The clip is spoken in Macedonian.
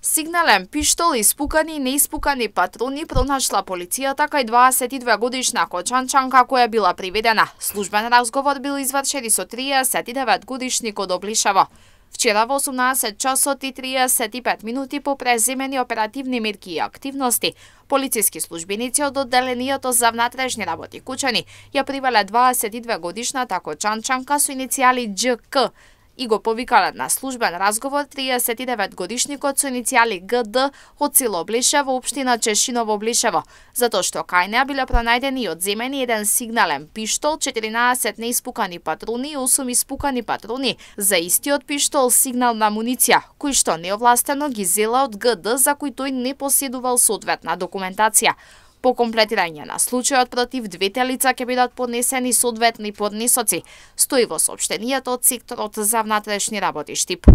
Сигнален пиштол, испукани и неиспукани патрони пронашла полицијата кај 22-годишна кочанчанка која била приведена. Службен разговор бил извршен со 39-годишник од Облишево. Вчера во 18 часот и 35 минути по преземени оперативни мерки и активности, полициски службеници од одделенијето за внатрешни работи Кучани ја привеле 22-годишната кочанчанка со иницијали ДЖК и го повикале на службен разговор 39-годишникот со иницијали ГД од село Облишево, општина Чешиново, Облишево, затоа што кај неа биле пронајдени и одземени еден сигнален пиштол, 14 неиспукани патрони и 8 испукани патрони за истиот пиштол сигнална муниција, кој што неовластено ги зела од ГД за кој тој не поседувал соодветна документација. По комплетирање на случајот против двете лица ќе бидат поднесени соодветни поднесоци, стои во соопштенијето од секторот за внатрешни работи Штип.